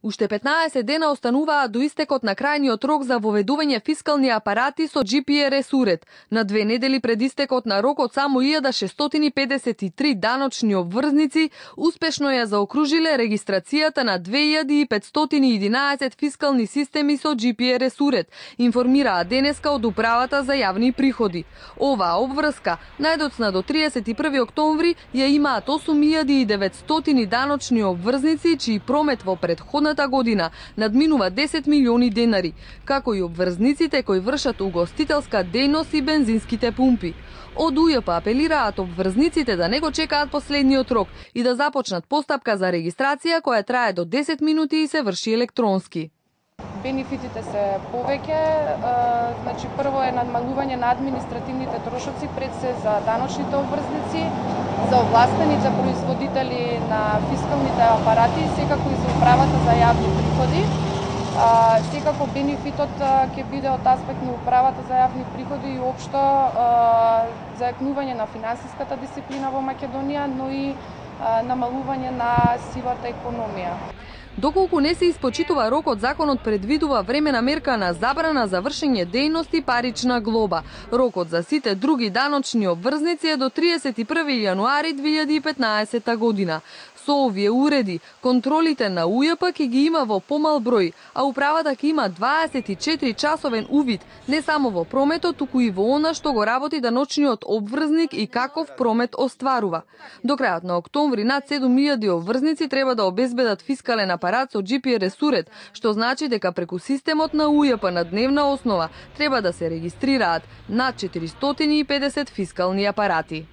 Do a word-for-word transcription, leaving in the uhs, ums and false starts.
Уште петнаесет дена остануваат до истекот на крајниот рок за воведување фискални апарати со Џи Пи Ер Ес уред. На две недели пред истекот на рокот само илјада шестстотини педесет и три даночни обврзници успешно ја заокружиле регистрацијата на две илјади и петстотини и единаесет фискални системи со Џи Пи Ер Ес уред, информираа денеска од Управата за јавни приходи. Оваа обврска најдоцна до триесет и први октомври ја имаат осум илјади и деветстотини даночни обврзници чиј промет во претходната година надминува десет милиони денари, како и обврзниците кои вршат угостителска дејност и бензинските пумпи. Од У Ј П апелираат обврзниците да не го чекаат последниот рок и да започнат постапка за регистрација која трае до десет минути и се врши електронски. Бенефитите се повеќе, значи прво е надмалување на административните трошоци, пред се за даночните обврзници, за овластените производители на фискалните апарати, секако и за Управата за јавни приходи. Секако бенефитот ќе биде од аспект на Управата за јавни приходи и општо зајакнување на финансиската дисциплина во Македонија, но и намалување на сивата економија. Доколку не се испочитува рокот, законот предвидува времена мерка на забрана за вршење дејност и парична глоба. Рокот за сите други даночни обврзници е до триесет и први јануари две илјади и петнаесета година. Со овие уреди, контролите на У Ј П ќе ги има во помал број, а управата ќе има дваесет и четири часовен увид не само во прометот, туку и во она што го работи даночниот обврзник и каков промет остварува. До крајот на октомври над седум илјади обврзници треба да обезбедат фискален апарат со Џи Пи Ер Ес уред, што значи дека преку системот на У Ј П на дневна основа треба да се регистрираат над четиристотини и педесет фискални апарати.